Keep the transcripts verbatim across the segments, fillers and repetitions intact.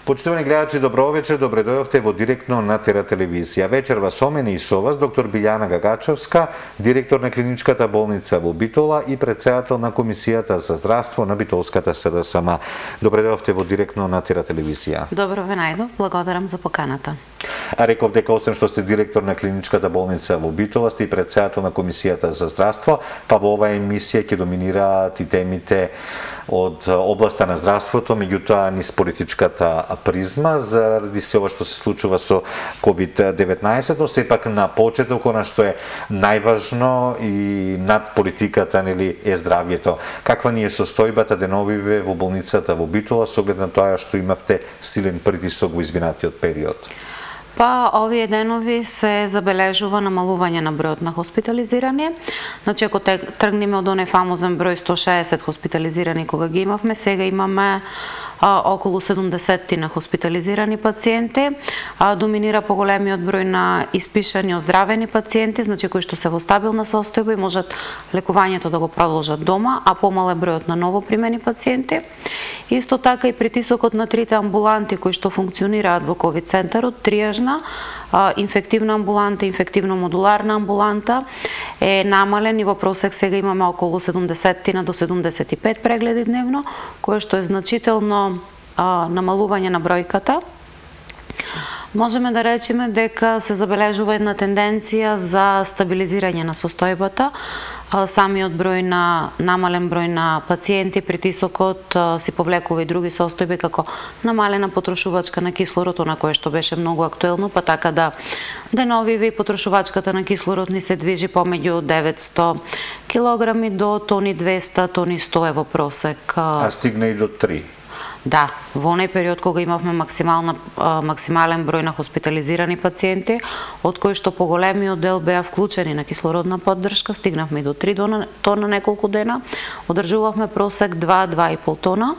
Почитувани гледачи, добро вечер, добре дојдовте во директно на Тера телевизија. Вечерва со мене и со вас доктор Билјана Гагачевска, директор на клиничката болница во Битола и претседател на Комисијата за здравство на Битолската СДСМ. Добре дојдовте во директно на Тера телевизија. Добро ве најдов, благодарам за поканата. А реков дека освен што сте директор на клиничката болница во Битола, сте и претседател на Комисијата за здравство, па во оваа емисија ќе доминираат и темите од областа на здравството, меѓутоа низ политичката призма, заради се ова што се случува со ковид деветнаесет, но сепак на почеток она што е најважно и над политиката, нели, е здравјето. Каква ни е состојбата деновиве во болницата во Битола со оглед на тоа што имавте силен притисок во изминатиот период? Па, овие денови се забележува намалување на бројот на хоспитализирани. Значи, ако тргнеме од оној фамозен број сто шеесет хоспитализирани кога ги имавме, сега имаме а, околу седумдесет на хоспитализирани пациенти. А, доминира поголемиот број на испишани оздравени пациенти, значи кои што се во стабилна состојба и можат лекувањето да го продолжат дома, а помал е бројот на новопримени пациенти. Исто така и притисокот на трите амбуланти кои што функционираат во ковид центарот, триажна, инфективна амбуланта, инфективно-модуларна амбуланта е намален и во просек сега имаме околу седумдесет до седумдесет и пет прегледи дневно, кое што е значително а, намалување на бројката. Можеме да речеме дека се забележува една тенденција за стабилизирање на состојбата. Самиот број на намален број на пациенти, притисокот си повлекува и други состојби како намалена потрошувачка на кислород, на кое што беше многу актуелно, па така да деновиве и потрошувачката на кислород ни се движи помеѓу деветсто килограми до тони двесте, тони сто е во просек. А стигна и до три. Да, во оној период кога имавме максимална, максимален број на хоспитализирани пациенти, од кои што поголемиот дел беа вклучени на кислородна поддршка, стигнавме до три тона неколку дена, одржувавме просек два до два и пол тона.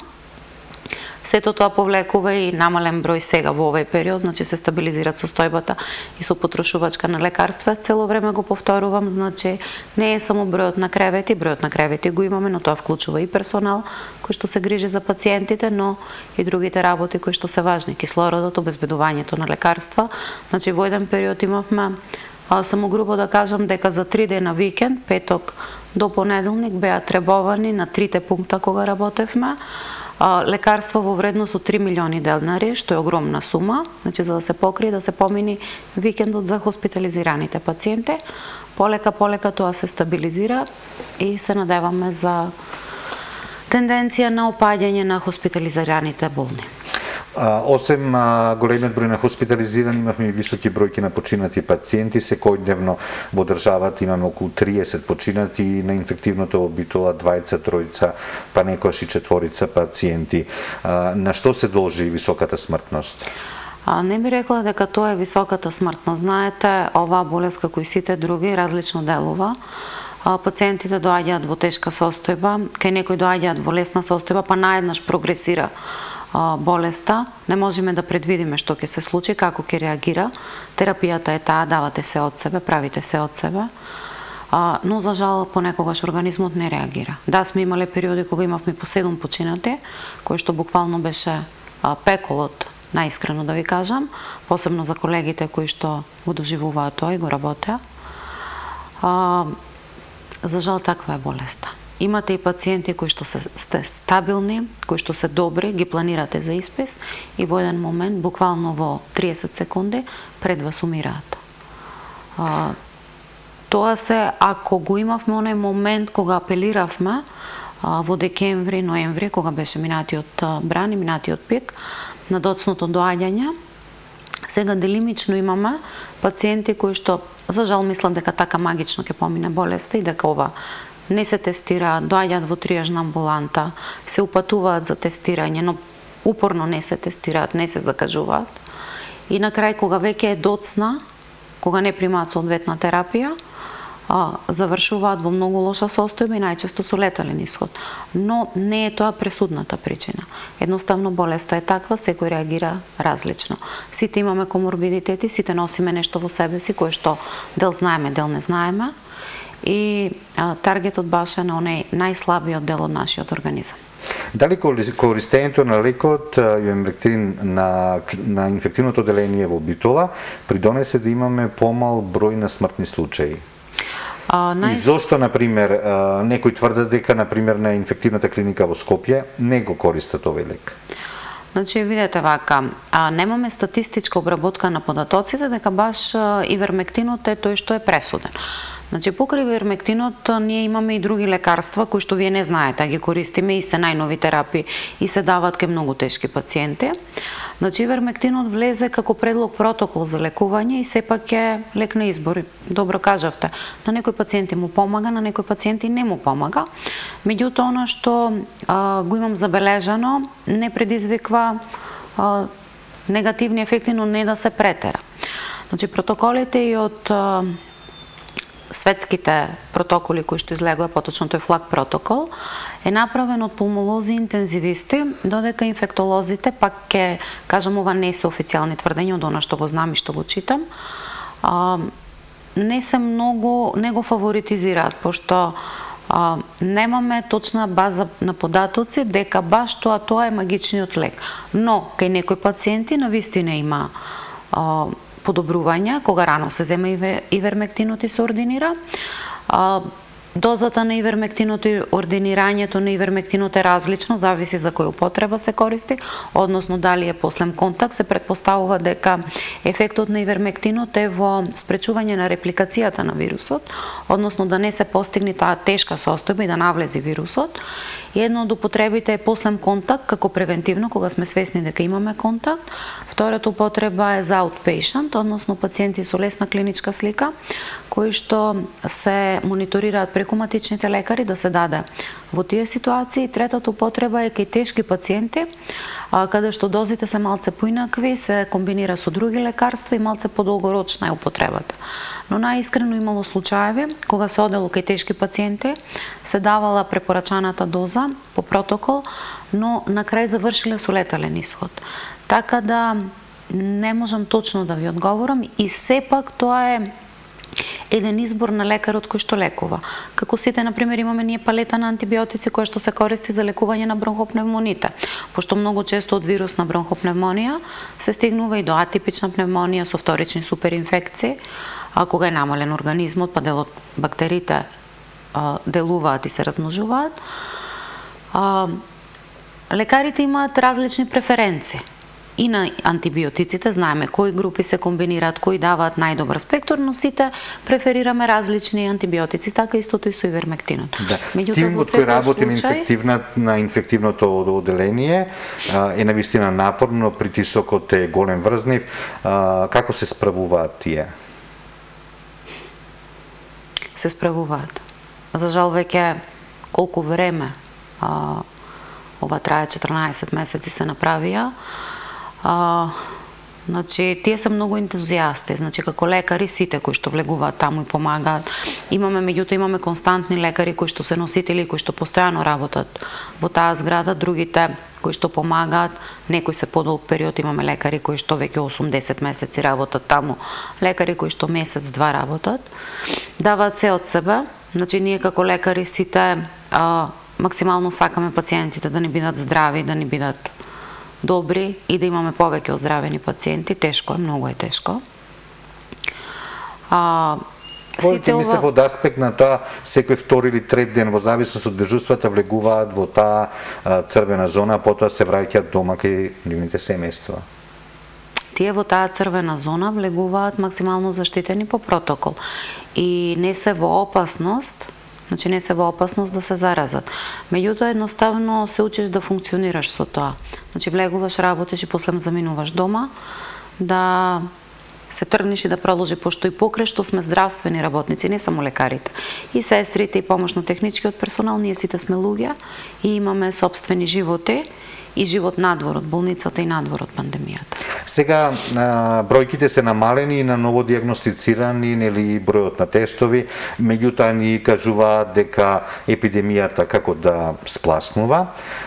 Сето тоа повлекува и намален број сега во овој период, значи се стабилизираат состојбата и со потрошувачка на лекарства. Цело време го повторувам, значи не е само бројот на кревети, бројот на кревети го имаме, но тоа вклучува и персонал кој што се грижи за пациентите, но и другите работи кои што се важни, кислородот, обезбедувањето на лекарства. Значи во еден период имавме, а, само грубо да кажам дека за три дена викенд, петок до понеделник беа требовани на трите пункта кога работевме лекарства во вредност од три милиони денари, што е огромна сума, значи за да се покрие, да се помини викендот за хоспитализираните пациенти. Полека, полека тоа се стабилизира и се надеваме за тенденција на опаѓање на хоспитализираните болни. А, осем а, големиот број на хоспитализирани, имавме и високи бројки на починати пациенти. Секојдневно во државата имаме околу триесет починати и на инфективното во Битола двајца, тројца, па некојаш и четворица пациенти. А, на што се должи високата смртност? А, не би рекла дека тоа е високата смртност. Знаете, оваа болест, како и сите други, различно делува. Пациентите доаѓаат во тешка состојба, кај некои доаѓаат во лесна состојба, па наеднаш прогресира болеста. Не можеме да предвидиме што ќе се случи, како ќе реагира. Терапијата е таа, давате се од себе, правите се од себе. Но за жал понекогаш организмот не реагира. Да, сме имале периоди кога имавме по седум починати, кој што буквално беше пеколот, наискрено да ви кажам, посебно за колегите кои што го доживуваат тоа и го работеа. За жал таква е болеста. Имате и пациенти кои што се сте стабилни, кои што се добри, ги планирате за испис и во еден момент, буквално во триесет секунди, пред вас умираат. А, тоа се, ако го имавме оној момент кога апелиравме а, во декември, ноември, кога беше минатиот бран и минатиот пик, на доцното доаѓање, сега делимично имаме пациенти кои што, за жал, мислат дека така магично ќе помине болеста и дека ова не се тестираат, доаѓаат во триажна амбуланта, се упатуваат за тестирање, но упорно не се тестираат, не се закажуваат. И на крај, кога веќе е доцна, кога не примаат соодветна терапија, а, завршуваат во многу лоша состојба и најчесто со летален исход. Но не е тоа пресудната причина. Едноставно болеста е таква, секој реагира различно. Сите имаме коморбидитети, сите носиме нешто во себе си кое што дел знаеме, дел не знаеме и а, таргетот баш е на оној најслабиот дел од нашиот организам. Дали користењето на лекот ивермектин на, на инфективното оделение во Битола придонесе да имаме помал број на смртни случаи? А, нај... И зошто, например, некои тврдат дека, например, на инфективната клиника во Скопје не го користат овој лек? Значи, видете вака, а, немаме статистичка обработка на податоците дека баш ивермектинот е тој што е пресуден. Значи, покрај ивермектинот ние имаме и други лекарства кои што вие не знаете, ги користиме и се најнови терапии и се даваат кај многу тешки пациенти. Значи, ивермектинот влезе како предлог протокол за лекување и сепак е лек на избор. Добро кажавте, на некои пациенти му помага, на некои пациенти не му помага. Меѓутоа, она што а, го имам забележано, не предизвиква а, негативни ефекти, но не да се претера. Значи, протоколите и од а, светските протоколи кои што излегува, поточно тој флаг протокол, е направен од пулмолози и интензивисти, додека инфектолозите, пак ке кажам, ова не се официјални тврдења од она што го знам и што го читам, а, не се многу, не го фаворитизираат, пошто а, немаме точна база на податоци дека баш тоа тоа е магичниот лек. Но кај некои пациенти навистина има а, подобрување, кога рано се зема ивермектинот и се ординира. А, дозата на ивермектинот и ординирањето на ивермектинот е различно, зависи за која употреба се користи, односно дали е послем контакт, се претпоставува дека ефектот на ивермектинот е во спречување на репликацијата на вирусот, односно да не се постигне таа тешка состојба и да навлези вирусот. И едно од употребите е послем контакт, како превентивно, кога сме свесни дека имаме контакт. Втората употреба е за outpatient, односно пациенти со лесна клиничка слика, кои што се мониторираат преку матичните лекари да се даде во тие ситуации. Третата употреба е кај тешки пациенти, каде што дозите се малце поинакви, се комбинира со други лекарства и малце подолгорочна е употребата. Но најискрено имало случаеви кога се одело кај тешки пациенти, се давала препорачаната доза по протокол, но на крај завршиле со летален исход. Така да не можам точно да ви одговорам и сепак тоа е еден избор на лекарот кој што лекува. Како сите, например, имаме ние палета на антибиотици која што се користи за лекување на бронхопневмоните, пошто многу често од вирусна бронхопневмонија се стигнува и до атипична пневмонија со вторични суперинфекции, а кога е намален организмот, па дел од бактериите а, делуваат и се размножуваат. А, лекарите имаат различни преференции. И на антибиотиците знаеме кои групи се комбинираат, кои даваат најдобар спектар, но сите преферираме различни антибиотици, така истото и со ивермектинот. Да. Тимот кој работи случај... на, инфективна, на инфективното оделение е навистина напорно, притисокот е голем врзнив. Како се справуваат тие? Се справуваат. За жал веќе колку време, а, ова трае четрнаесет месеци се направија. А, значи, тие се многу ентузијасти, значи како лекари сите кои што влегуваат таму и помагаат. Имаме, меѓутоа имаме константни лекари кои што се носители, кои што постојано работат во таа зграда, другите кои што помагаат, некои се подолг период, имаме лекари кои што веќе осумдесет месеци работат таму, лекари кои што месец-два работат, даваат се од себе. Значи, ние како лекари сите а, максимално сакаме пациентите да ни бидат здрави, да ни бидат добри и да имаме повеќе оздравени пациенти. Тешко е, многу е тешко. А, сите ова... мислев од аспект на тоа, секој втори или трет ден во зависност од дежурствата влегуваат во таа црвена зона, а потоа се враќаат дома кај нивните семејства. Тие во таа црвена зона влегуваат максимално заштитени по протокол и не се во опасност, значи не се во опасност да се заразат. Меѓутоа едноставно се учиш да функционираш со тоа. Значи влегуваш, работиш и после заминуваш дома, да се тргнеш и да продолжи, пошто и покрај што сме здравствени работници, не само лекарите, и сестрите и помошно-техничкиот персонал, ние сите сме луѓе и имаме сопствени животи и живот надвор од болницата и надвор од пандемијата. Сега бројките се намалени на ново диагностицирани, нели бројот на тестови, меѓутоа ни кажуваат дека епидемијата како да спласнува.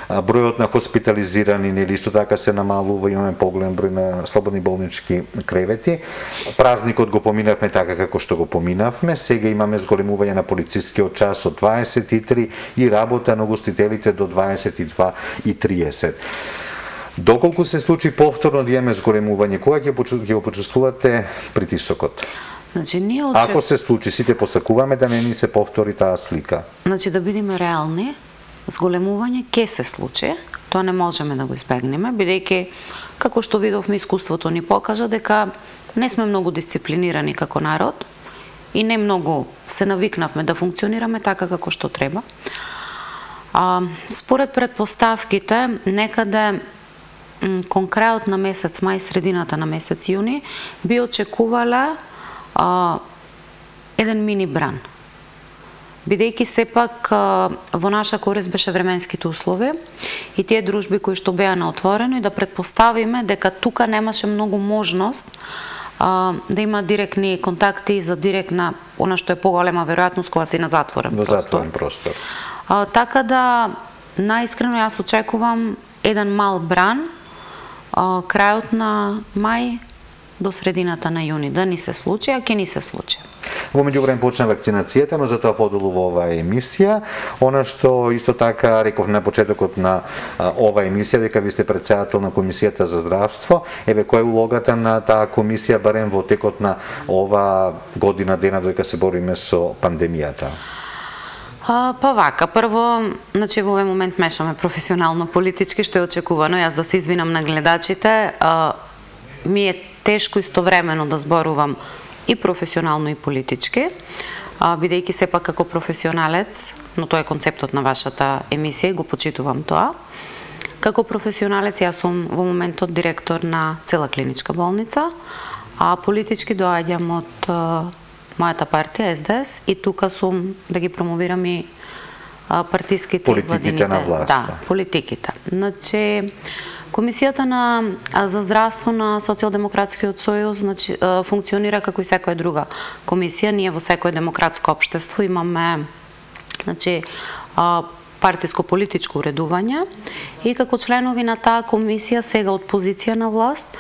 Бројот на хоспитализирани, нели исто така се намалува, имаме поголем број на слободни болнички кревети. Празникот го поминавме така како што го поминавме. Сега имаме зголемување на полицискиот час од дваесет и три и работа на гостителите до дваесет и два и триесет. Доколку се случи повторно да имаме зголемување, кога ќе го почувствувате притисокот? Значи, ние очек... Ако се случи, сите посакуваме да не ни се повтори таа слика. Значи, да бидеме реални, зголемување ќе се случи, тоа не можеме да го избегнеме, бидејќи, како што видовме, искуството ни покажа дека не сме многу дисциплинирани како народ и не многу се навикнавме да функционираме така како што треба. А, според предпоставките, некаде кон крајот на месец мај, средината на месец јуни, би очекувале а, еден мини бран. Бидејќи сепак а, во наша корист беше временските услови и тие дружби кои што беа на отворено и да предпоставиме дека тука немаше многу можност а, да има директни контакти за директна, она што е поголема веројатност кога си на затворен простор. Затворен простор. А, така да, наискрено јас очекувам еден мал бран а, крајот на мај до средината на јуни, да ни се случи, а ќе ни се случи. Во меѓувреме почна вакцинацијата, но затоа подолу во оваа емисија. Она што исто така реков на почетокот на а, оваа емисија, дека ви сте претседател на Комисијата за здравство, еве која е улогата на таа комисија барем во текот на ова година дена додека се бориме со пандемијата? А, па вака, прво, значи во овој момент мешаме професионално политички, што е очекувано, јас да се извинам на гледачите, а, ми е тешко истовремено да зборувам и професионално и политички, а, бидејќи сепак како професионалец, но тоа е концептот на вашата емисија и го почитувам тоа. Како професионалец јас сум во моментот директор на цела клиничка болница, а политички доаѓам од а, мојата партија Ес Де Ес и тука сум да ги промовирам и а, партиските и владините. На власта. Да, политиките. Значи, Комисијата на, за здравство на Социјалдемократскиот сојуз значи, функционира како и секоја друга комисија. Ние во секој демократско општество имаме значи, партиско-политичко уредување и како членови на таа комисија сега од позиција на власт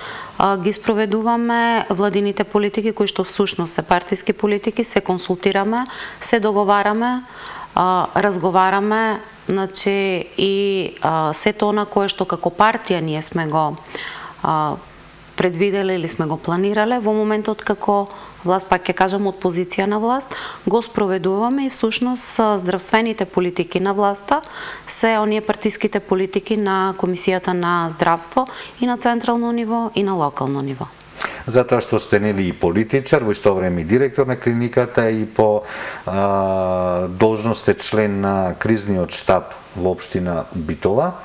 ги спроведуваме владините политики кои што всушност се партиски политики, се консултираме, се договараме, разговараме, значи и а, сето она кое што како партија ние сме го а, предвиделе или сме го планирале во моментот како власт, пак ќе кажам од позиција на власт, го спроведуваме и всушност здравствените политики на власта се оние партиските политики на Комисијата на здравство и на централно ниво и на локално ниво. Затоа што сте нели и политичар, во исто време и директор на клиниката и по а, должност сте член на кризниот штаб во општина Битола.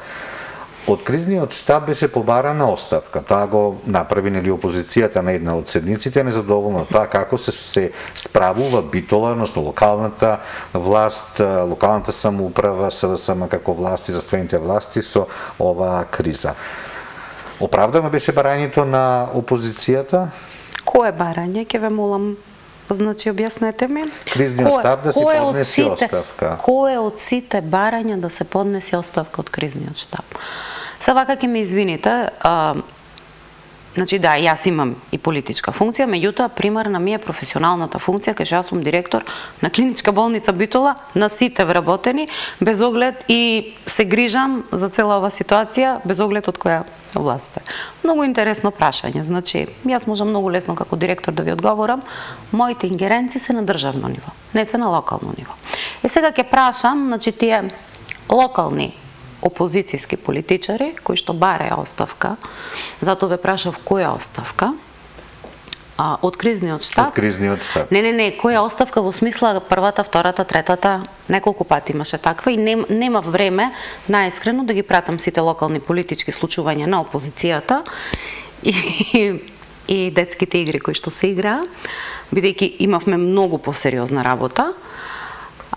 Од кризниот штаб беше побарана оставка. Таа го направи нели опозицијата на една од седниците, незадоволна тоа како се се справува Битола, односно локалната власт, локалната самоуправа, С Д С М како власти, заствените власти со оваа криза. Оправдано беше барањето на опозицијата? Кое барање? Ке ве молам, значи објаснете ми. Кризниот штаб да се поднесе оставка. Кој од сите барања да се поднесе оставка од кризниот штаб? Се вака ќе ме извините, а, значи да, јас имам и политичка функција, меѓутоа примарна ми е професионалната функција, кај што јас сум директор на клиничка болница Битола, на сите вработени, без оглед и се грижам за цела ова ситуација, без оглед од која власт е. Многу интересно прашање, значи јас можам многу лесно како директор да ви одговорам, моите ингеренции се на државно ниво, не се на локално ниво. Е сега ќе прашам, значи тие локални опозицијски политичари кои што бараја оставка, затоа ве прашав која оставка, а, од кризниот штаб. Од кризниот штаб. Не, не, не, која оставка во смисла првата, втората, третата, неколку пати имаше таква и нем, нема време наискрено да ги пратам сите локални политички случувања на опозицијата и, и детските игри кои што се играа, бидејќи имавме многу посериозна работа.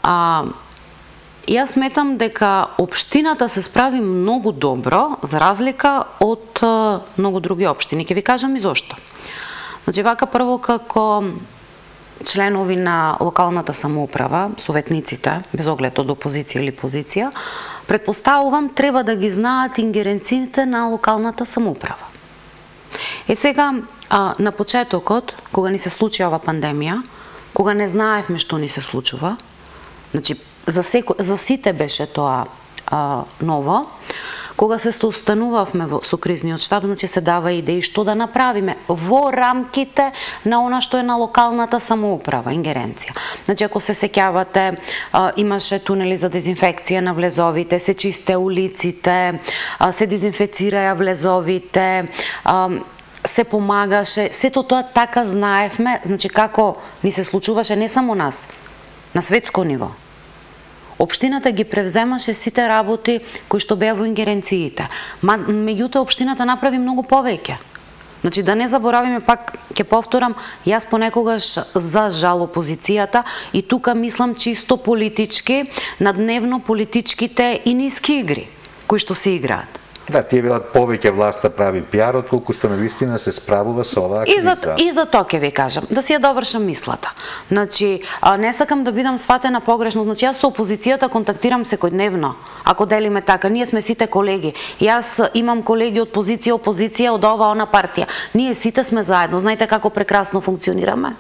А, Јас сметам дека општината се справи многу добро, за разлика од многу други општини. Ќе ви кажам и зошто. Значи, вака прво како членови на локалната самоуправа, советниците, без оглед од опозиција или позиција, предпоставувам треба да ги знаат ингеренциите на локалната самоуправа. Е сега, на почетокот, кога ни се случи ова пандемија, кога не знаевме што ни се случува, значи, за, секо, за сите беше тоа а, ново, кога се останувавме со кризниот штаб, значи се дава идеи што да направиме во рамките на она што е на локалната самоуправа, ингеренција. Значи, ако се сеќавате, имаше тунели за дезинфекција на влезовите, се чисте улиците, се дезинфецираја влезовите, се помагаше, сето тоа така знаевме, значи како ни се случуваше не само нас, на светско ниво. Општината ги превземаше сите работи кои што беа во ингеренциите. Ма, меѓутоа, општината направи многу повеќе. Значи, да не заборавиме, пак ќе повторам, јас понекогаш за жал опозицијата и тука мислам чисто политички, на дневно политичките и ниски игри, кои што се играат. Да, тие велат повеќе власта прави пиар, отколку што на вистина се справува со оваа криза. И за, и за тоа ќе ви кажам, да си ја довршам мислата. Значи, не сакам да бидам сватена погрешно, значи јас со опозицијата контактирам секојдневно, ако делиме така, ние сме сите колеги. Јас имам колеги од позиција, опозиција, од ова, она партија. Ние сите сме заедно, знаете како прекрасно функционираме?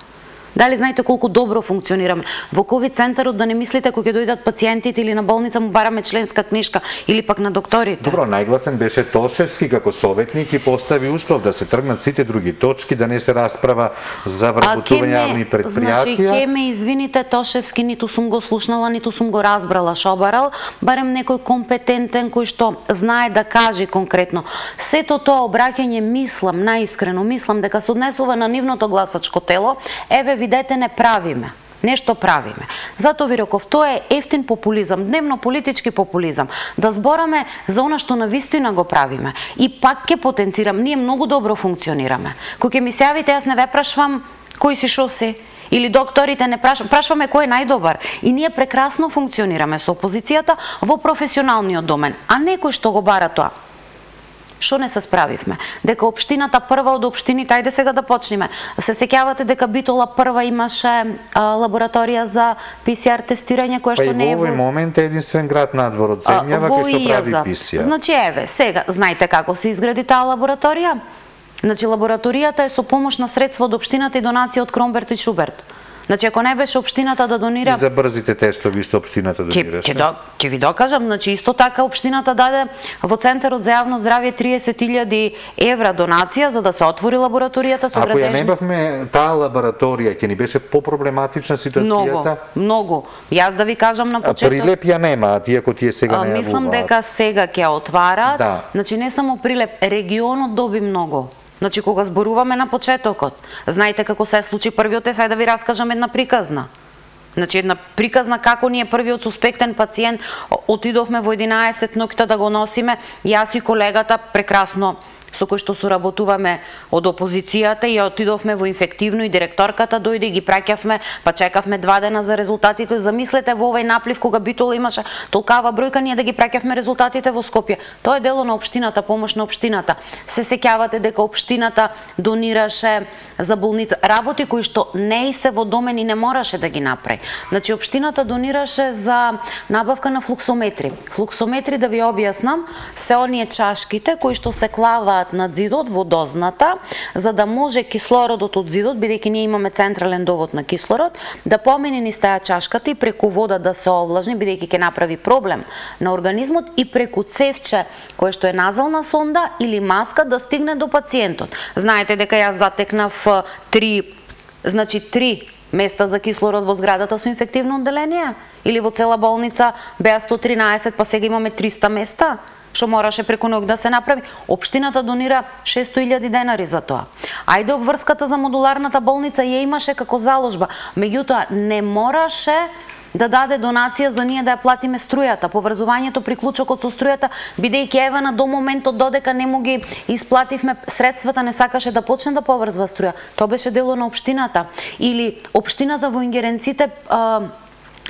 Дали знаете колку добро функционираме? Во ковид центарот, да не мислите кога ќе дојдат пациентите или на болница му бараме членска книжка или пак на докторите. Добро, најгласен беше Тошевски како советник и постави услов да се тргнат сите други точки, да не се расправа за вработување јавни предпријатија. Значи, ке ме извините, Тошевски ниту сум го слушнала, ниту сум го разбрала што барал, барем некој компетентен кој што знае да каже конкретно. Сето тоа обраќање, мислам, наискрено мислам дека се однесува на нивното гласачко тело, еве видете, не правиме. Нешто правиме. Зато ви реков, тоа е ефтин популизам, дневно политички популизам. Да збораме за она што навистина го правиме. И пак ќе потенцирам, ние многу добро функционираме. Кога ќе ми се јавите, јас не ве прашвам кој си шо си, или докторите не прашваме, прашваме кој е најдобар. И ние прекрасно функционираме со опозицијата во професионалниот домен, а некој што го бара тоа. Што не се справивме? Дека општината прва од општините, ајде сега да почнеме. Се сеќавате дека Битола прва имаше а, лабораторија за пи си ар тестирање, која што не е во... Па и во овој момент е единствен град надвор од земјава кој што прави пи си ар. Значи, еве, сега, знаете како се изгради таа лабораторија? Значи, лабораторијата е со помош на средства од општината и донација од Кромберт и Шуберт. Значи, ако не беше општината да донира... И за брзите тестови исто општината донираше? Ќе ќе ви докажам, значи, исто така општината даде во Центарот за јавно здравје триесет илјади евра донација за да се отвори лабораторијата со градежни... Ако ја не бавме таа лабораторија, ќе ни беше попроблематична ситуацијата? Многу, многу. Јас да ви кажам на почеток... Прилеп ја нема, а тие ако тие сега не ја мислам дека сега ќе отварат. Да. Значи, не само Прилеп, регионот доби многу. Значи, кога зборуваме на почетокот, знаете како се случи првиот, е, сај да ви раскажам една приказна. Значи, една приказна како ние првиот суспектен пациент отидовме во единаесет ноќта да го носиме, јас и колегата прекрасно со кој што соработуваме од опозицијата и отидовме во инфективно и директорката дојде и ги праќавме, па чекавме два дена за резултатите. Замислете во овој наплив кога Битола имаше толкава бројка, ние да ги праќавме резултатите во Скопје. Тоа е дело на општината, помош на општината. Се сеќавате дека општината донираше за болница работи кои што не и се во домен и не мораше да ги направи. Значи, општината донираше за набавка на флуксометри. Флуксометри, да ви објаснам, се оние чашките кои што се клаваат над зидот во дозната, за да може кислородот од зидот, бидејќи ние имаме централен довод на кислород, да помине низ таа чашката и преку вода да се овлажни, бидејќи ќе направи проблем на организмот, и преку цевче кое што е назална сонда или маска да стигне до пациентот. Знаете дека јас затекнав три, значи три места за кислород во зградата со инфективно одделение, или во цела болница беа сто тринаесет, па сега имаме триста места, што мораше преку ноќ да се направи. Општината донира шесто илјади денари за тоа. Ајде, обврската за модуларната болница ја имаше како заложба, меѓутоа не мораше да даде донација за ние да ја платиме струјата, поврзувањето, приклучокот со струјата, бидејќи евана до моментот додека не му ги исплативме средствата, не сакаше да почне да поврзва струја. Тоа беше дело на општината. Или општината во ингеренците а,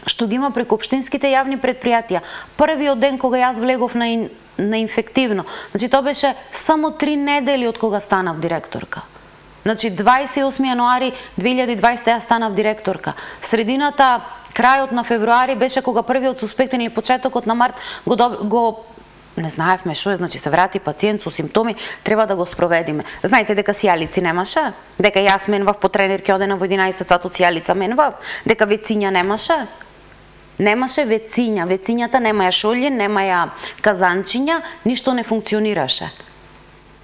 што ги има преку општинските јавни предпријатија. Првиот ден кога јас влегов на, ин, на инфективно, значи тоа беше само три недели од кога станав директорка. Значи дваесет и осми јануари две илјади и дваесета јас станав директорка. Средината, крајот на февруари беше кога првиот суспектен или почетокот на март го, го не знаевме што е, значи се врати пациент со симптоми, треба да го спроведиме. Знаете дека сијалици немаше, дека јас менвав по тренерки одена во единаесет сат од сијалица менвав, дека вециња немаше. Немаше вециња, вецињата немаја шолји, немаја казанчиња, ништо не функционираше.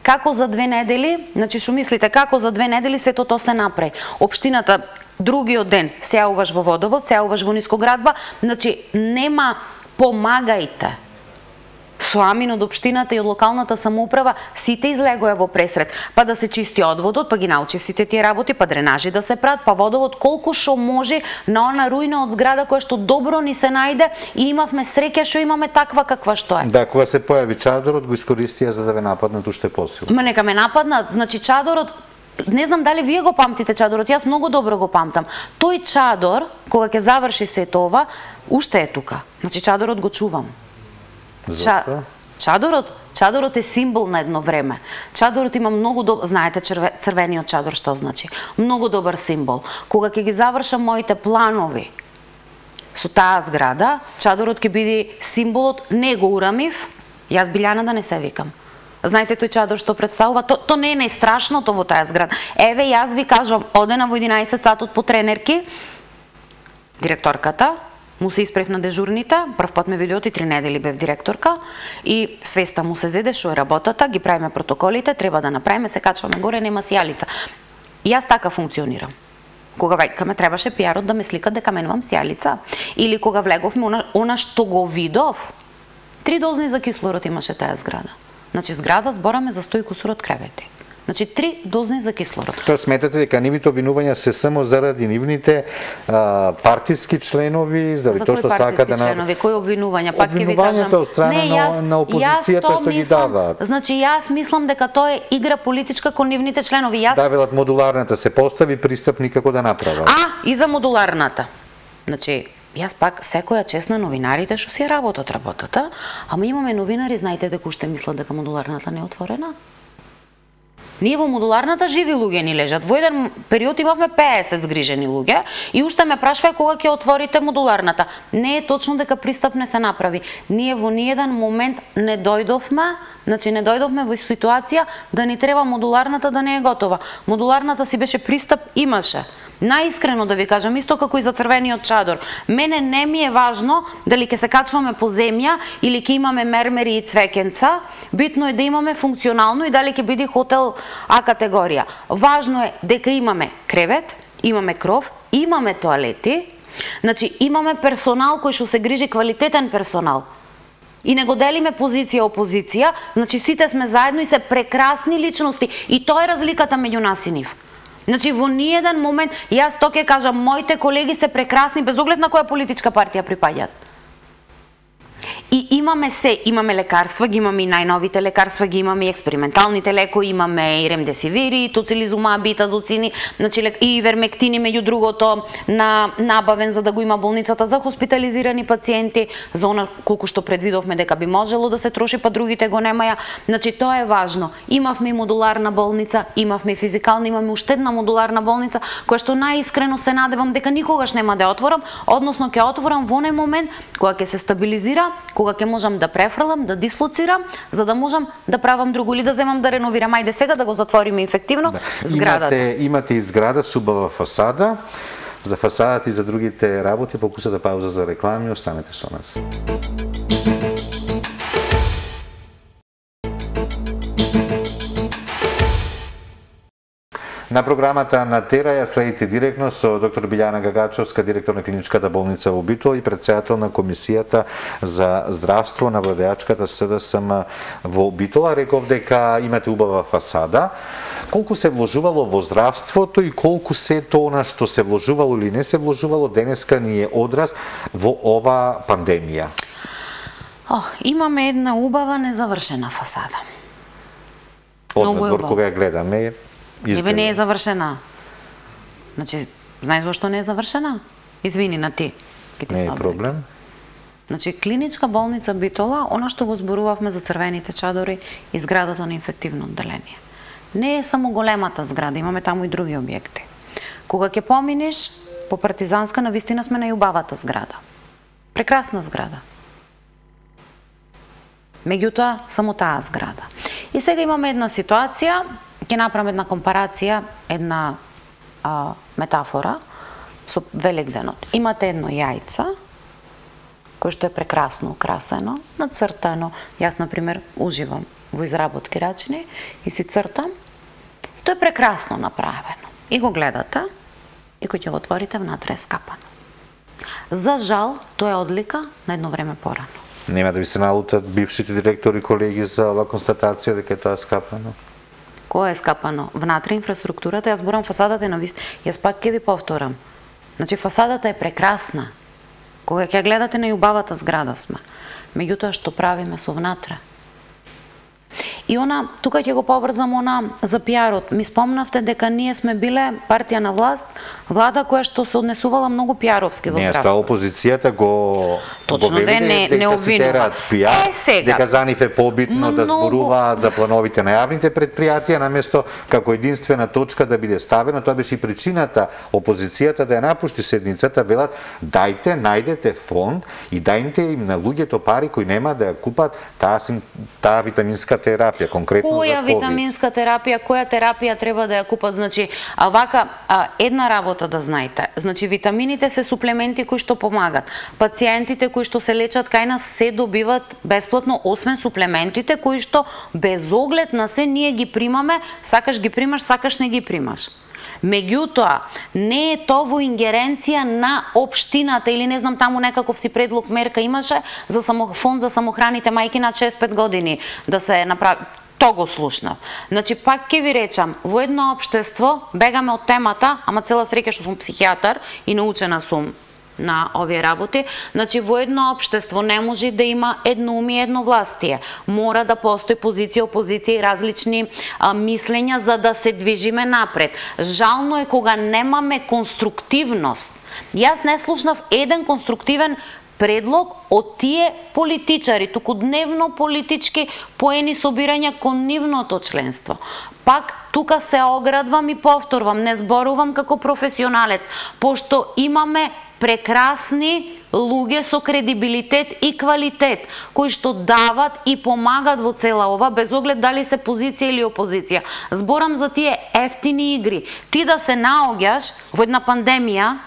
Како за две недели, значи што мислите, како за две недели сето тоа се направи. Општината другиот ден се јавуваш во водовод, се јавуваш во нискоградба, значи нема помагајте. Со амин од општината и од локалната самоуправа сите излегоја во пресред, па да се чисти одводот, па ги научив сите тие работи, па дренажи да се прават, па водовод колку што може на она руина од зграда која што добро ни се најде и имавме среќа што имаме таква каква што е. Да, кога се појави чадорот го искористија за да ве нападнат уште посилно. Ма нека ме нападнат, значи чадорот, не знам дали вие го памтите чадорот, јас многу добро го памтам. Тој чадор, кога ќе заврши сето ова, уште е тука. Значи чадорот го чувам. Зошто? Чадорот, чадорот е символ на едно време. Чадорот има многу добар, знаете черве, црвениот чадор што значи? Многу добар символ. Кога ќе ги завршам моите планови со таа зграда, чадорот ќе биде символот, не го урамив, јас Билјана да не се викам. Знаете тој чадор што представува, то, то не е најстрашното во таа зграда. Еве јас ви кажувам, одена во единаесет сатот по тренерки, директорката му се испрев на дежурните, прв пат ме видеот и три недели бев директорка и свеста му се зеде што е работата, ги правиме протоколите, треба да направиме, се качваме горе, нема сијалица. И јас така функционирам. Кога веќе ме требаше пиарот да ме сликат дека менувам сијалица, или кога влеговме она, она што го видов, три дозни за кислород имаше таа зграда. Значи зграда збораме за сто и кусурот кревети. Значи три дозни за кислород. Тоа сметате дека нивните обвинувања се само заради нивните а, партиски членови, заради тоа што сака да на членови, кои обвинувања? Пак ќе ви кажам. Обвинувањата од страна не, јас, на, на опозицијата што ги даваат. Значи јас мислам дека тоа е игра политичка кон нивните членови. Јас Да, велат модуларната се постави, пристап никако да направат. А, и за модуларната. Значи јас пак секоја чест на новинарите што си работат работата, ама имаме новинари, знаете дека уште мислат дека модуларната не е отворена. Ние во модуларната живи луѓе ни лежат. Во еден период имавме петдесет згрижени луѓе и уште ме прашува кога ќе отворите модуларната. Не е точно дека пристап не се направи. Ние во ниеден момент не дојдовме, значи не дојдовме во ситуација да ни треба модуларната да не е готова. Модуларната си беше пристап, имаше. Наискрено да ви кажам, исто како и за црвениот чадор. Мене не ми е важно дали ќе се качваме по земја или ќе имаме мермери и цвеќенца. Битно е да имаме функционално и дали ќе биде хотел А категорија. Важно е дека имаме кревет, имаме кров, имаме тоалети, значи имаме персонал кој што се грижи, квалитетен персонал. И не го делиме позиција опозиција, значи сите сме заедно и се прекрасни личности и тоа е разликата меѓу нас и нив. Значи во ниеден момент, јас тоа ќе кажам, моите колеги се прекрасни без оглед на која политичка партија припаѓаат. И имаме се, имаме лекарства, ги имаме и најновите лекарства, ги имаме и експерименталните лекои, имаме и ремдесивири, и тоцилизумаби, и тазоцини, значи и ивермектини меѓу другото на набавен за да го има болницата за хоспитализирани пациенти, за она колку што предвидовме дека би можело да се троши, па другите го немаја. Значи тоа е важно. Имавме и модуларна болница, имавме и физикална, имаме уште една модуларна болница која што најискрено се надевам дека никогаш нема да ја отворам, односно ќе отворам во оној момент кога ќе се стабилизира, кога ќе можам да префрлам, да дислоцирам, за да можам да правам друго или да земам да реновирам. Ајде сега да го затвориме инфективно да. Зградата. Имате, имате и зграда со убава фасада. За фасадата и за другите работи покусата пауза за реклами, останете со нас. На програмата на Тера ја следите директно со доктор Билјана Гагачовска, директор на клиничката болница во Битола и претседател на Комисијата за здравство на владеачката СДСМ во Битола. Реков дека имате убава фасада. Колку се вложувало во здравството и колку се тоа што се вложувало или не се вложувало денеска ни е одраз во ова пандемија? Ох, имаме една убава незавршена фасада. Однадвор кога ја гледаме Небе не е завршена. Значи, знаеш зашто не е завршена? Извини на ти. клиничките Не е сообраќаи. проблем. Значи, клиничка болница Битола, она што го зборувавме за црвените чадори и зградата на инфективно одделение. Не е само големата зграда, имаме таму и други објекти. Кога ќе поминеш по Партизанска, навистина сме на јубавата зграда. Прекрасна зграда. Меѓутоа, само таа зграда. И сега имаме една ситуација, ќе направам една компарација, една а, метафора со Великденот. Имате едно јајце, кој што е прекрасно украсено, нацртано. Јас, например, уживам во изработки рачни и си цртам. Тоа е прекрасно направено. И го гледате, и кој ќе го отворите, внатре е скапано. За жал, тоа е одлика на едно време порано. Нема да ви се налутат бившите директори и колеги за оваа констатација дека тоа е скапано? Кој е скапано? Внатре инфраструктурата, јас зборам фасадата е на вист. Јас пак ќе ви повторам. Значи, фасадата е прекрасна. Кога ќе гледате на јубавата зграда сме. Меѓутоа, што правиме со внатре? И она, тука ќе го поврзам она за пиарот. Ми спомнавте дека ние сме биле партија на власт, влада која што се однесувала многу пиаровски во здравство. Не, опозицијата го Точно го да не, не обвинува. Пиар, е, сега. Дека за нив е побитно Но да многу... зборуваат за плановите на јавните предпријатија, наместо како единствена точка да биде ставена. Тоа беше и причината опозицијата да ја напушти седницата, велат дајте, најдете фонд и дајте им на луѓето пари кои нема да ја купат таа, таа витаминска терапија, конкретно која за ковид. витаминска терапија, која терапија треба да ја купат, значи, а вака, а, една работа да знаете, значи, витамините се суплементи кои што помагат. Пациентите кои што се лечат кај нас се добиват бесплатно, освен суплементите кои што без оглед на се ние ги примаме, сакаш ги примаш, сакаш не ги примаш. Меѓутоа, не е тоа во ингеренција на општината или не знам таму некаков си предлог мерка имаше за само, фонд за самохраните мајки на шест пет години да се направи. То го слушнав. Значи, пак ќе ви речам, во едно општество, бегаме од темата, ама цела среќа што сум психијатар и научена сум на овие работи, значи во едно општество не може да има едноумие и едновластие. Мора да постои позиција, опозиција и различни а, мислења за да се движиме напред. Жално е кога немаме конструктивност. Јас не слушнав еден конструктивен предлог од тие политичари, туку дневно политички поени собирања кон нивното членство. Пак тука се оградвам и повторвам, не зборувам како професионалец, пошто имаме прекрасни луѓе со кредибилитет и квалитет, кои што дават и помагат во цела ова, без оглед дали се позиција или опозиција. Зборам за тие ефтини игри. Ти да се наоѓаш во една пандемија,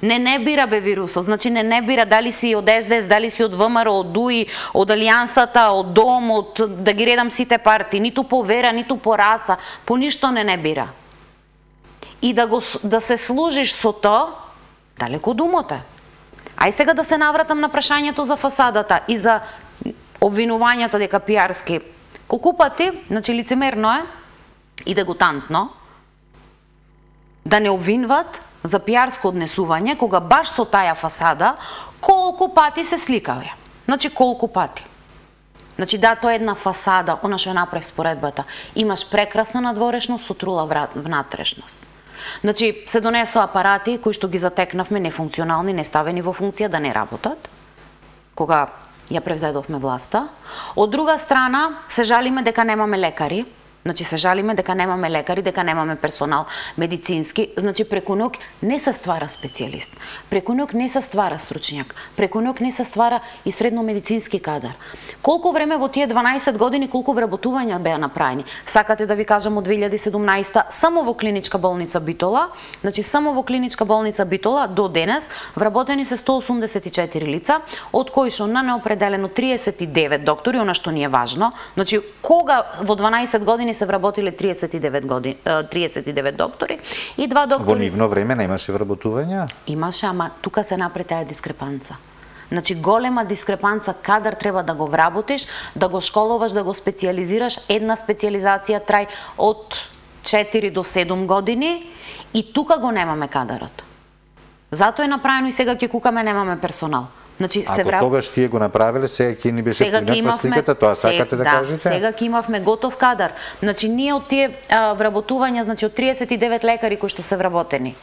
не не бира бе вирусот, значи не не бира дали си од Ес Де Ес, дали си од Вэ Ем Ар, од Ду И, од Алијансата, од Дом, од да ги редам сите партии, ниту по вера, ниту по раса, по ништо не не бира. И да го да се служиш со тоа, далеко од умот е. Ај сега да се навратам на прашањето за фасадата и за обвинувањето дека пиарски. Колку пати, значи лицемерно е и дегутантно да не обвинват за пиарско однесување, кога баш со таја фасада, колку пати се сликаве. Значи, колку пати. Значи, да, тоа е една фасада, она што ја направи споредбата. Имаш прекрасна надворешност со трула внатрешност. Значи, се донесоа апарати кои што ги затекнавме нефункционални, неставени во функција да не работат, кога ја превзедовме власта. Од друга страна, се жалиме дека немаме лекари. Значи, се жалиме дека немаме лекари, дека немаме персонал медицински. Значи, преку ноќ не се ствара специјалист. Преку ноќ не се ствара стручњак. Преку ноќ не се ствара и средно медицински кадар. Колку време во тие дванаесет години, колку вработувања беа направени? Сакате да ви кажам од две илјади и седумнаесета само во клиничка болница Битола, значи само во клиничка болница Битола до денес вработени се сто осумдесет и четири лица, од кои што на неопределено триесет и девет доктори, она што ни е важно. Значи, кога во дванаесет години се вработиле триесет и девет години, триесет и девет доктори и два доктори. Во нивно време немаше вработувања? Имаше, ама тука се направи таа дискрепанца. Значи, голема дискрепанца, кадар треба да го вработиш, да го школуваш, да го специјализираш. Една специјализација трај од четири до седум години и тука го немаме кадарот. Затоа е направено и сега ќе кукаме немаме персонал. Значи, Ако се враб... тогаш тие го направиле, сега ќе ни беше поинаква сликата, тоа сакате да, да кажете? Сега ќе имавме готов кадар. Значи, ние од тие а, вработувања, значи од триесет и девет лекари кои што се вработени,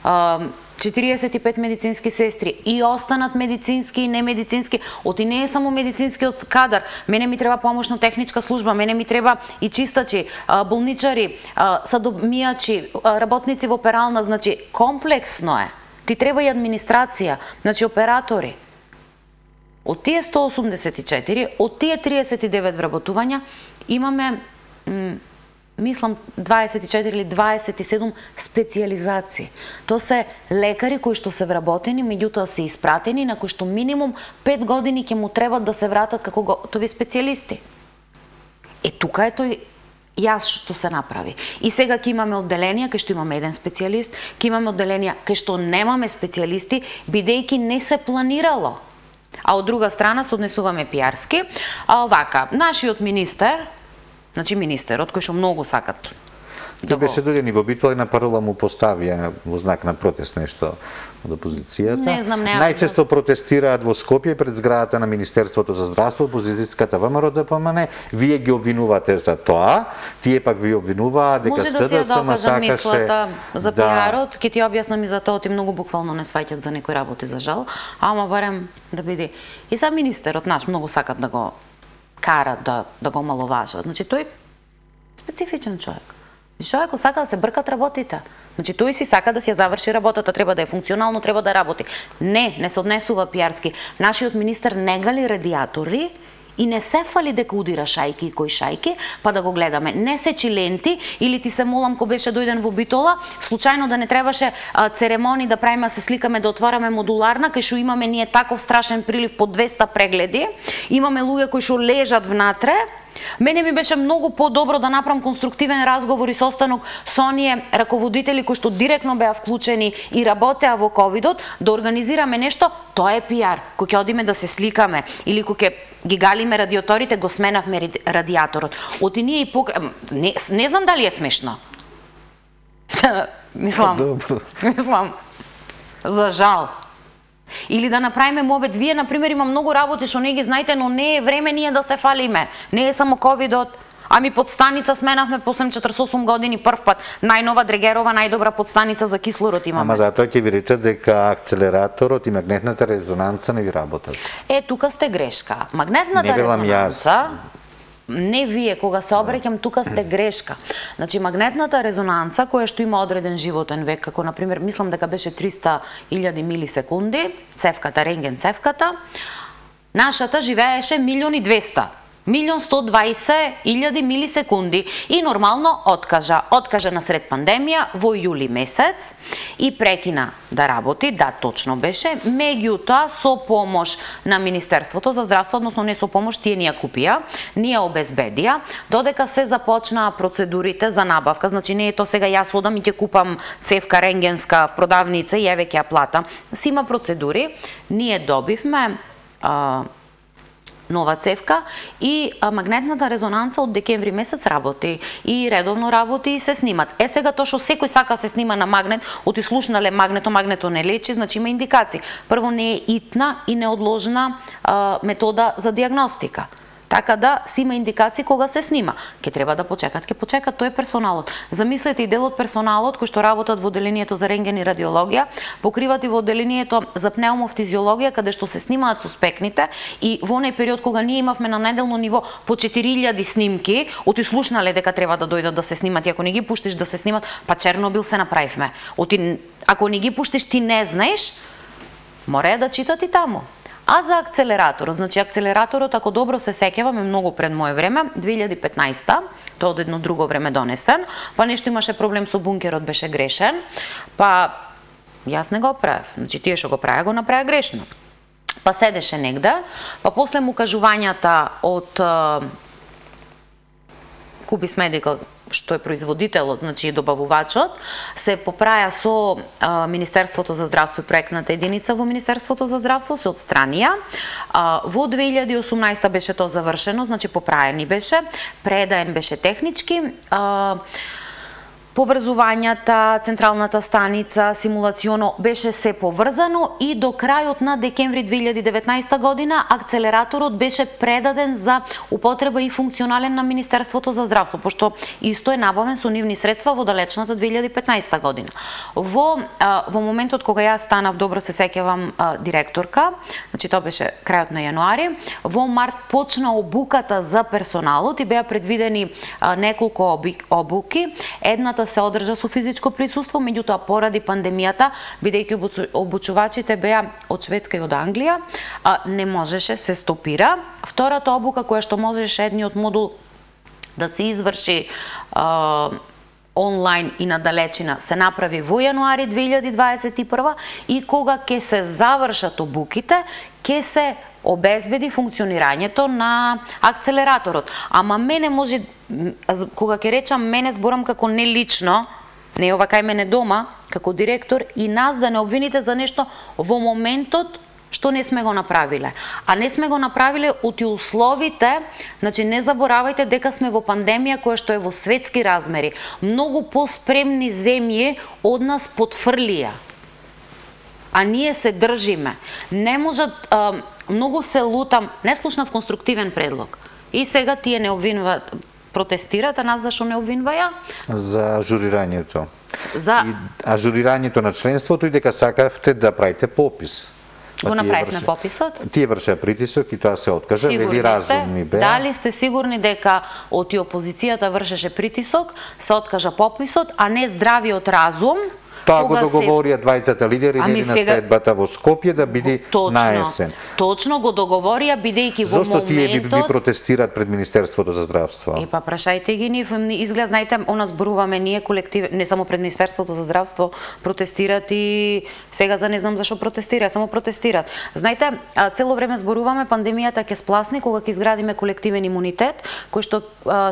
а, четириесет и пет медицински сестри и останат медицински и немедицински. Оти не е само медицинскиот кадар. Мене ми треба помошна техничка служба, мене ми треба и чистачи, болничари, садомијачи, работници во перална, значи комплексно е. Ти треба и администрација, значи оператори. Од тие сто осумдесет и четири, од тие триесет и девет вработувања, имаме мислам дваесет и четири или дваесет и седум специјализации. Тоа се лекари кои што се вработени, меѓутоа се испратени, на кои што минимум пет години ќе му требат да се вратат како готови специјалисти. Е, тука е тој јас што се направи. И сега ќе имаме одделенија кај што имаме еден специјалист, ќе имаме одделенија кај што немаме специјалисти, бидејќи не се планирало. А од друга страна се однесуваме пиарски. А овака, нашиот министер, значи министерот, кој што многу сакат. Тој беше дојден и во Битола и на парола му поставија во знак на протест нешто од опозицијата. Не знам, не. Најчесто протестираат во Скопје пред зградата на Министерството за здравство, опозицијската ВМРО Д П М Н. Вие ги обвинувате за тоа, тие пак ви обвинуваат дека С Д С М сакаше мислата за пиарот, ќе ти објаснам и за тоа, ти многу буквално не сваќат за некои работи за жал, ама барем да биде. И сам министерот наш многу сакат да го карат да да го маловажат. Значи тој специфичен човек. Човекот сака да се бркат работите. Значи тој си сака да си ја заврши работата, треба да е функционално, треба да работи. Не, не се однесува пиарски. Нашиот министер не гали радиатори и не се фали дека удира шајки и кој шајки, па да го гледаме. Не сечи ленти или ти се молам ко беше дојден во Битола, случајно да не требаше а, церемонии да правиме, се сликаме, да отвараме модуларна, кај што имаме ние таков страшен прилив по двеста прегледи, имаме луѓе кои што лежат внатре. Мене ми беше многу подобро да направам конструктивен разговор и состанок со оние раководители кои што директно беа вклучени и работеа во ковидот, да организираме нешто, тоа е пиар. Кој ќе одиме да се сликаме или кој ќе ги галиме радиаторите, го сменавме радиаторот. Оти ние и покра... не, не знам дали е смешно. Мислам, мислам, за жал. Или да направиме мобет. Вие, например, има многу работи што не ги знаете, но не е време ние да се фалиме. Не е само ковидот. Ами подстаница сменавме после четиридесет и осум години прв пат. Најнова Дрегерова, најдобра подстаница за кислород имаме. Ама затоа ќе ви речат дека акцелераторот и магнетната резонанца не ви работат. Е, тука сте грешка. Магнетната резонанца... Не вие, кога се обреќам, тука сте грешка. Значи, магнетната резонанца, која што има одреден животен век, како, например, мислам дека беше триста илјади милисекунди, цевката, рентген цевката, нашата живееше милион и двеста. милион сто дваесет илјади милисекунди и нормално откажа. Откажа на сред пандемија во јули месец и прекина да работи, да, точно беше, меѓутоа со помош на Министерството за здравство, односно не со помош, тие ни ја купија, ни ја обезбедија, додека се започнаа процедурите за набавка. Значи не е то сега јас одам и ќе купам цевка рентгенска в продавница и еве ќе ја платам. Си има процедури. Ние добивме а, нова цевка и а, магнетната резонанца од декември месец работи и редовно работи и се снимат. Е сега тоа што секој сака се снима на магнет, оти слушнале магнето, магнето не лечи, значи има индикации. Прво не е итна и неодложна а, метода за диагностика. Така да си има индикации кога се снима. Ке треба да почекат, ке почекат, тој е персоналот. Замислете и дел од персоналот кои што работат во одделението за рентген и радиологија, покриват и во одделението за пнеумофтизиологија, каде што се снимаат суспектните и во оној период кога ние имавме на неделно ниво по четири илјади снимки, оти слушнале дека треба да дојдат да се снимат и ако не ги пуштиш да се снимат, па Чернобил се направивме. Оти ако не ги пуштиш ти не знаеш, мора да читат и таму. А за акцелераторот, значи акцелераторот, ако добро се сеќавам, е многу пред моје време, две илјади и петнаесета, тоа од едно друго време донесен, па нешто имаше проблем со бункерот, беше грешен, па јас не го правев, значи тие што го правеа, го направеа грешно. Па седеше негде, па после му кажувањата од Cubis Medical, што е производителот, значи добавувачот, се поправја со а, Министерството за здравство и проектната единица во Министерството за здравство, се отстранија. А, во две илјади и осумнаесета беше тоа завршено, значи поправени беше, предаен беше технички. А, поврзувањата, централната станица, симулационо беше се поврзано и до крајот на декември две илјади и деветнаесета година акцелераторот беше предаден за употреба и функционален на Министерството за здравство, пошто исто е набавен со нивни средства во далечната две илјади и петнаесета година. Во а, во моментот кога јас станав, добро се сеќавам, директорка, значи тоа беше крајот на јануари, во март почна обуката за персоналот и беа предвидени а, неколку обуки. Едната се одржа со физичко присуство, меѓутоа поради пандемијата, бидејќи обучувачите беа од Шведска и од Англија, а, не можеше, се стопира. Втората обука која што можеше едниот модул да се изврши а, онлайн и на далечина се направи во јануари две илјади дваесет и прва и кога ќе се завршат обуките, ќе се обезбеди функционирањето на акцелераторот. Ама мене може, кога ќе речам мене, зборам како не лично, не ова кај мене дома, како директор, и нас да не обвините за нешто во моментот што не сме го направиле. А не сме го направиле оти условите, значи не заборавајте дека сме во пандемија која што е во светски размери. Многу поспремни земји од нас потфрлија. А ние се држиме. Не можат, а, многу се лутам, не слушнав конструктивен предлог. И сега тие не обвинуваат, протестират, а нас зашо не обвинваја? За ажурирањето. За... И ажурирањето на членството и дека сакавте да правите попис. Го направивме пописот. Тие вршеа притисок и тоа се откажа, вели разумни беа. Дали сте сигурни дека од опозицијата вршеше притисок, се откажа пописот, а не здравиот разум? Тоа го договорија двајцата лидери ами на сега... следбата во Скопје да биде на есен. Точно го договорија, бидејќи во моментот... Зошто тие би, би протестират пред Министерството за здравство? И па прашајте ги нив, изгледа, знаете, она зборуваме ние колектив, не само пред Министерството за здравство протестират и сега за не знам зашо протестира, само протестират. Знаете, цело време зборуваме пандемијата ќе спласни кога ќе изградиме колективен имунитет, кој што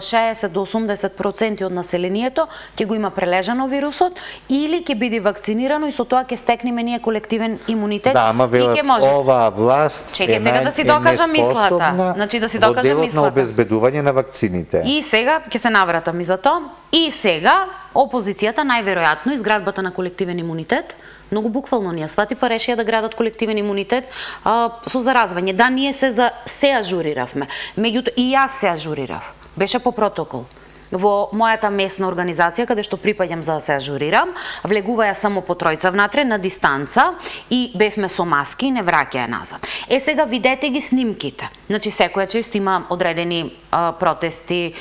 шеесет до осумдесет проценти од населението ќе го има прележано вирусот или ќе биде вакцинирано и со тоа ќе стекнеме ние колективен имунитет. Да, ама велат, оваа власт Чекай, сега да си докажам мислата. Значи да си докажам мислата. На обезбедување на вакцините. И сега ќе се навратам и за тоа. И сега опозицијата најверојатно изградбата на колективен имунитет, многу буквално ние свати па решија да градат колективен имунитет а, со заразвање. Да, ние се за се ажуриравме. Меѓутоа и јас се ажурирав. Беше по протокол. Во мојата месна организација, каде што припаѓам за да се ажурирам, влегуваја само по тројца внатре на дистанца и бевме со маски и не враќаја назад. Е, сега видете ги снимките. Значи, секоја чест има одредени а, протести,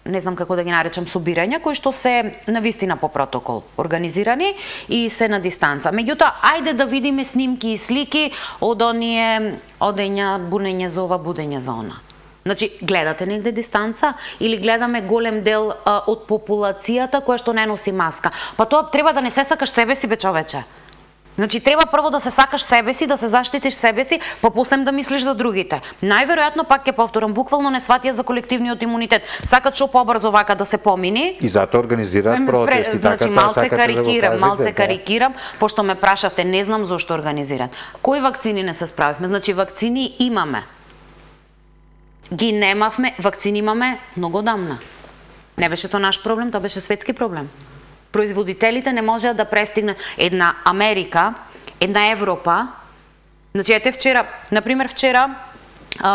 не знам како да ги наречам, собирања, кои што се навистина по протокол организирани и се на дистанца. Меѓутоа, ајде да видиме снимки и слики од оние одења, бунење за ова, будење за она. Значи, гледате негде дистанца или гледаме голем дел а, од популацијата која што не носи маска. Па тоа треба да не се сакаш себе си, бе човече. Значи, треба прво да се сакаш себе си, да се заштитиш себе си, па после да мислиш за другите. Најверојатно, пак ќе повторам, буквално не сватија за колективниот имунитет. Сакат што побрзо вака да се помини. И затоа организираат протести. Значи, така, малце карикирам, да малце карикирам, пошто ме прашавте, не знам зошто организираат. Кои вакцини не се справивме? Значи, вакцини имаме. Ги немавме, вакцини имаме многу одамна. Не беше тоа наш проблем, тоа беше светски проблем. Производителите не можеа да престигнат една Америка, една Европа. Значи, ете вчера, например вчера,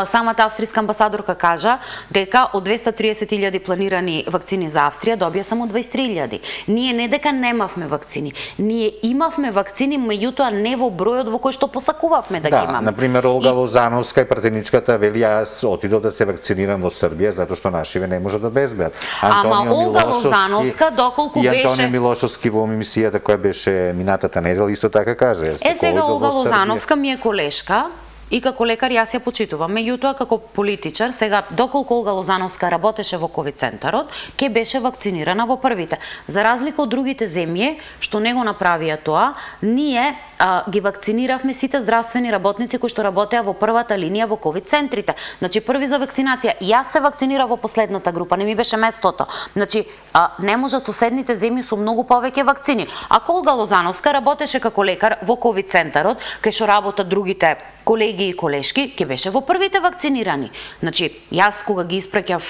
самата австријска амбасадорка кажа дека од двеста и триесет илјади планирани вакцини за Австрија добија само дваесет и три илјади. Ние не дека немавме вакцини, ние имавме вакцини, меѓутоа не во бројот во кој што посакувавме да, да ги имаме. Да, например Олга и... Лозановска и пратеничката вели јас отидов да се вакцинирам во Србија затоа што нашиве не можат да безбедат. Ама Олга Лозановска доколку беше беше и Антонио Милошовски во емисијата која беше минатата недела исто така каже. Е сега Олга Лозановска ми е колешка. И како лекар јас ја почитувам. Меѓутоа, како политичар, сега, доколку Олга Лозановска работеше во ковид центарот, ќе беше вакцинирана во првите. За разлика од другите земји, што не го направија тоа, ние а, ги вакциниравме сите здравствени работници кои што работеа во првата линија во ковид центрите. Значи, први за вакцинација. Јас се вакцинирав во последната група, не ми беше местото. Значи, а, не можат соседните земји со многу повеќе вакцини. Ако Олга Лозановска работеше како лекар во ковид центарот, кај што работат другите колеги и колешки, ќе беше во првите вакцинирани. Значи, јас кога ги испраќав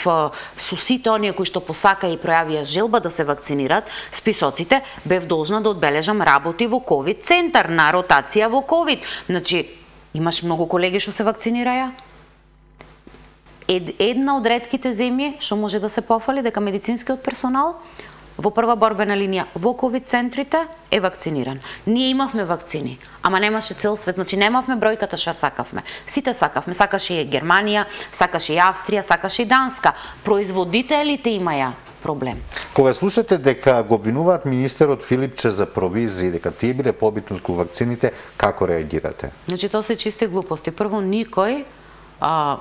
со сите оние кои што посака и пројавија желба да се вакцинираат, списоците, бев должна да одбележам работи во ковид центар, на ротација во ковид. Значи, имаш многу колеги што се вакцинираја. Ед, една од ретките земји што може да се пофали дека медицинскиот персонал во прва борбена линија во ковид центрите е вакциниран. Ние имавме вакцини, ама немаше цел свет, значи немавме бројката што сакавме. Сите сакавме, сакаше и Германија, сакаше и Австрија, сакаше и Данска. Производителите имаја проблем. Кога слушате дека го обвинуваат министерот Филипче за провизии, дека тие биле побитни од вакцините, како реагирате? Значи тоа се чисти глупости. Прво, никој а,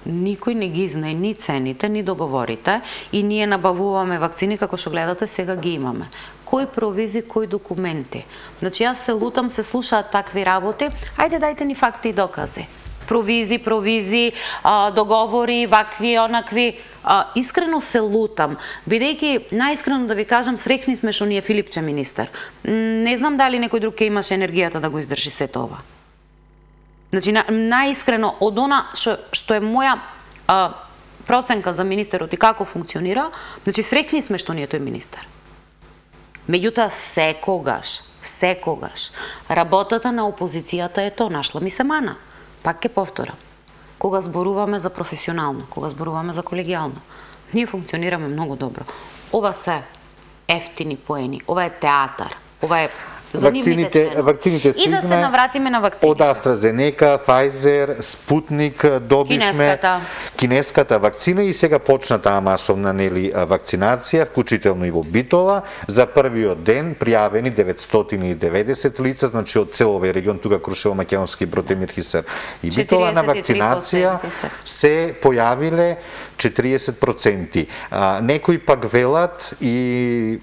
никој не ги знае ни цените, ни договорите и ние набавуваме вакцини, како што гледате, сега ги имаме. Кој провизи, кој документи? Значи, јас се лутам, се слушаат такви работи, ајде дајте ни факти и докази. Провизи, провизи, а, договори, вакви, онакви. А, искрено се лутам, бидејќи, најискрено да ви кажам, среќни сме што ни е Филипче министер. Не знам дали некој друг ќе имаше енергијата да го издржи сето ова. Значи, на, најискрено, од она што, што е моја а, проценка за министерот и како функционира, значи, среќни сме што ни е тој министер. Меѓутоа, секогаш, секогаш, работата на опозицијата е тоа, нашла ми се мана. Пак ќе повторам. Кога зборуваме за професионално, кога зборуваме за колегијално, ние функционираме многу добро. Ова се ефтини поени, ова е театар, ова е Вакцините, вакцините стигна и да се навратиме на вакцините. Од AstraZeneca, Pfizer, Sputnik добивме кинеската. кинеската вакцина и сега почна таа масовна нели вакцинација, вклучително и во Битола. За првиот ден пријавени деветстотини и деветдесет лица, значи од цел овој регион, тука Крушево, Македонски, Брод, Хисар и Битола на вакцинација се појавиле четириесет проценти. А, некои пак велат и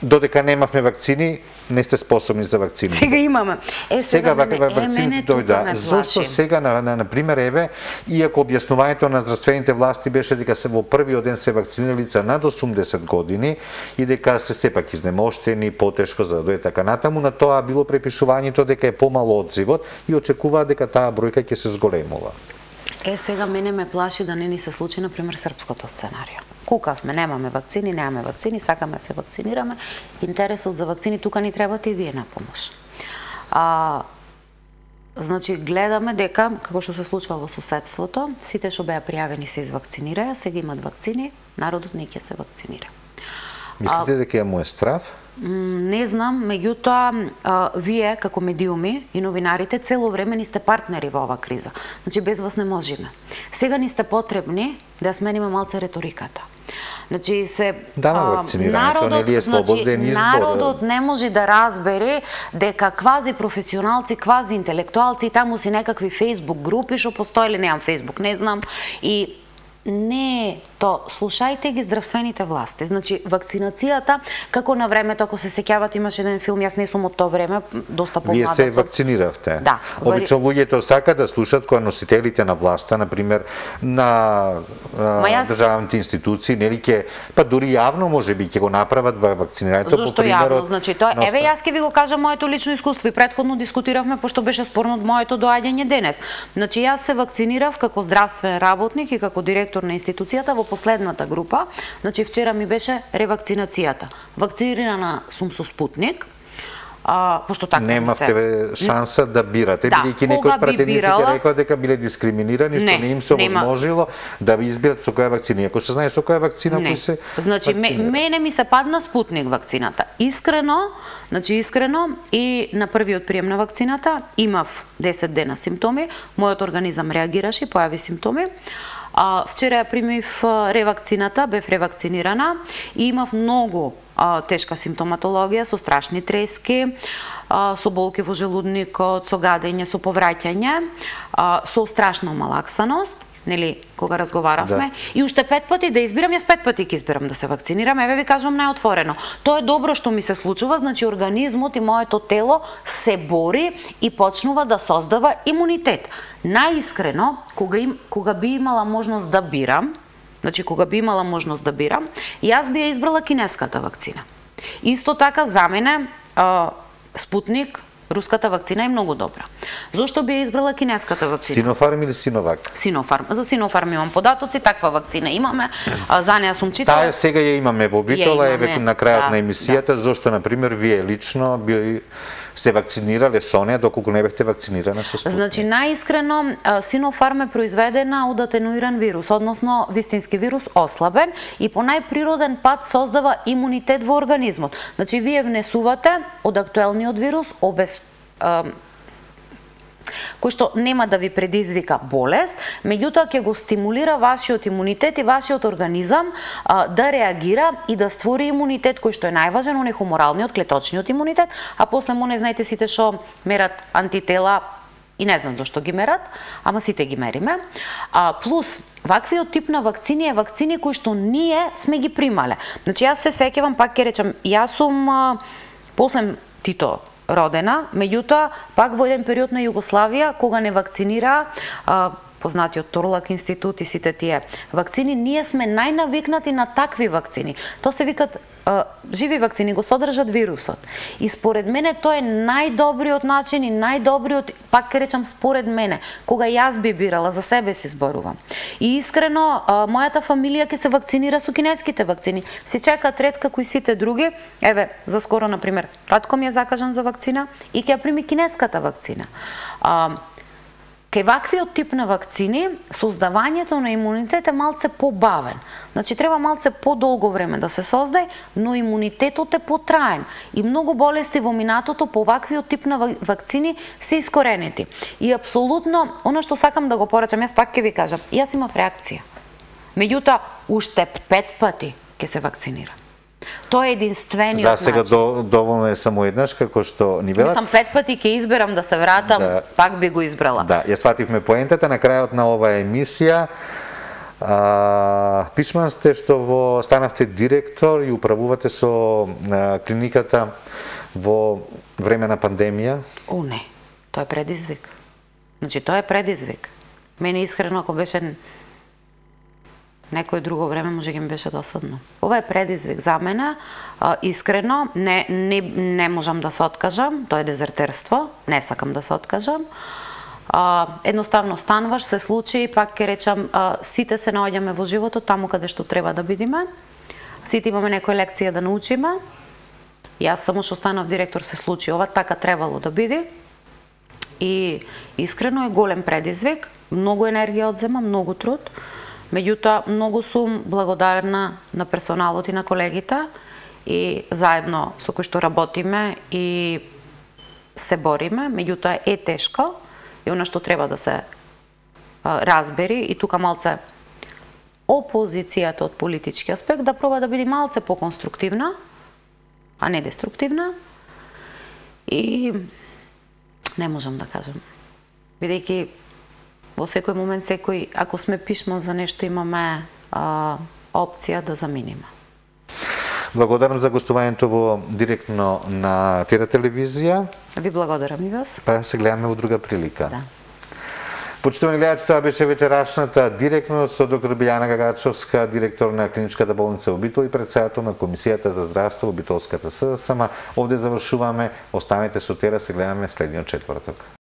додека немавме вакцини, не сте способни за вакцини. Сега имаме. Е, сега, сега мене, вакцините дојда. Зошто сега, на, на, на пример, еве, иако објаснувањето на здравствените власти беше дека се во првиот ден се вакцинира лица над осумдесет години и дека се сепак изнемоштени, потешко за да дојде така натаму, на тоа било препишувањето дека е помало одзивот и очекуваат дека таа бројка ќе се зголемува. Е, сега мене ме плаши да не ни се случи, например, српското сценарио. Кукавме, немаме вакцини, немаме вакцини, сакаме се вакцинираме. Интересот за вакцини тука ни требате и вие на помош. А, значи, гледаме дека, како што се случва во соседството, сите што беа пријавени се извакцинираа, сега имат вакцини, народот не ќе се вакцинира. Мислите дека ја му е страв? Не знам, меѓутоа, вие како медиуми и новинарите цело време ни сте партнери во оваа криза. Значи, без вас не можеме. Сега ни сте потребни да смениме малце реториката. Значи, се да, народот, нели е слободен значи, избор. Народот не може да разбере дека квази професионалци, квази интелектуалци, таму си некакви фейсбук групи, што постоеле, неам фейсбук, не знам, и не, то слушајте ги здравствените власти. Значи, вакцинацијата, како на времето, ако се сеќавате, имаше еден филм, јас не сум од тоа време, доста помлада. Вие се вакциниравте. Да. Обично луѓето сакаат да слушаат кога носителите на власта, например, на јас... државните институции, нели ќе, па дури јавно можеби ќе го направат вакцинирањето по примерот. Зошто јавно? Значи, тоа, на... еве јас ќе ви го кажам моето лично искуство и претходно дискутиравме пошто беше спорно од моето доаѓање денес. Значи, јас се вакцинирав како здравствен работник и како директор на институцијата во последната група. Значи, вчера ми беше ревакцинацијата. Вакцинирана сум со Спутник, а, пошто така немавте се... шанса да бирате, да, бидејќи некои од пратениците бирала... рекоа дека биле дискриминирани, што не, не им се овозможило да ви изберат со која вакцина. Ако се знае со која вакцина кој се значи, мене ми се падна Спутник вакцината. Искрено, значи искрено и на првиот прием на вакцината имав десет дена симптоми, мојот организам реагираше, појави симптоми. А, вчера ја примив ревакцината, бев ревакцинирана и имав многу а, тешка симптоматологија со страшни трески, а, со болки во желудникот, со гадење, со повраќање, а, со страшна малаксаност, нели, кога разговаравме, да. И уште пет пати да избирам, јас пет пати ќе избирам да се вакцинирам, еве ви кажувам најотворено. Тоа е добро што ми се случува, значи организмот и моето тело се бори и почнува да создава имунитет. Најискрено, кога, им, кога би имала можност да бирам, значи кога би имала можност да бирам, јас би ја избрала кинеската вакцина. Исто така за мене а, Спутник Руската вакцина е многу добра. Зошто би ја избрала кинеската вакцина? Синофарм или Синовак? Синофарм. За Синофарм имам податоци, таква вакцина имаме. За неа сум читала. Таа сега ја имаме во Битола, еве на крајот да, на емисијата, да. Зошто на пример вие лично би се вакцинирале со неа доколку не бевте вакцинирана со Спутник? Значи најискрено Синофарм е произведена од атенуиран вирус, односно вистински вирус ослабен и по најприроден пат создава имунитет во организмот. Значи вие внесувате од актуелниот вирус обез кој што нема да ви предизвика болест, меѓутоа ќе го стимулира вашиот имунитет и вашиот организам а, да реагира и да створи имунитет кој што е најважен, оној хуморалниот, клеточниот имунитет, а после моне знаете сите што мерат антитела и не знам зашто ги мерат, ама сите ги мериме. А, плюс, ваквиот тип на вакцини е вакцини кои што ние сме ги примале. Значи јас се сеќавам, пак ќе речам, јас сум а, после Тито родена, меѓутоа пак во еден период на Југославија кога не вакцинира а, познатиот Торлак институт и сите тие вакцини, ние сме најнавикнати на такви вакцини. Тоа се викат а, живи вакцини, го содржат вирусот. И според мене тоа е најдобриот начин и најдобриот, пак ќе речам според мене, кога јас би бирала, за себе си зборувам. И искрено, а, мојата фамилија ќе се вакцинира со кинеските вакцини. Се чекаат ред како и сите други. Еве, за скоро, например, татко ми е закажан за вакцина и ќе ја прими кинеската вакцина. А, Кај ваквиот тип на вакцини, создавањето на имунитет е малце побавен. Значи, треба малце подолго време да се создаде, но имунитетот е потраен. И многу болести во минатото по ваквиот тип на вакцини се искоренети. И апсолутно, оно што сакам да го порачам, јас пак ќе ви кажам, јас имав реакција. Меѓутоа, уште пет пати ќе се вакцинирам. Тоа е единствениот начин. За сега до, доволно е само еднаш, како што ни велат. Мислам, пет пати ќе изберам да се вратам, да, пак би го избрала. Да, ја свативме поентата на крајот на оваа емисија. А, пишман сте што во станавте директор и управувате со а, клиниката во време на пандемија? О, не. Тоа е предизвик. Значи, тоа е предизвик. Мене искрено, ако беше некој друго време, може ги ми беше досадно. Ова е предизвик за мене, а, искрено, не, не, не можам да се откажам, тоа е дезертерство, не сакам да се откажам. А, едноставно стануваш, се случи, пак ќе речам, а, сите се наоѓаме во животот таму каде што треба да бидеме, сите имаме некоја лекција да научиме. Јас само што станав директор се случи ова, така требало да биде. И искрено е голем предизвик, многу енергија одзема, многу труд. Меѓутоа, многу сум благодарна на персоналот и на колегите и заедно со кои што работиме и се бориме. Меѓутоа, е тешко и она што треба да се а, разбери и тука малце опозицијата од политички аспект да проба да биде малце поконструктивна, а не деструктивна. И не можам да кажам. Бидејќи во секој момент, секој, ако сме пишман за нешто, имаме а, опција да заминиме. Благодарам за гостувањето во директно на Тера телевизија. Ви благодарам и вас. Па се гледаме во друга прилика. Да. Почитувани гледачи, тоа беше вечерашната директно со доктор Билјана Гагачовска, директор на клиничката болница во Битол и претседател на Комисијата за здравство во Битолската СДСМ. Овде завршуваме. Останете со Тера, се гледаме следниот четврток.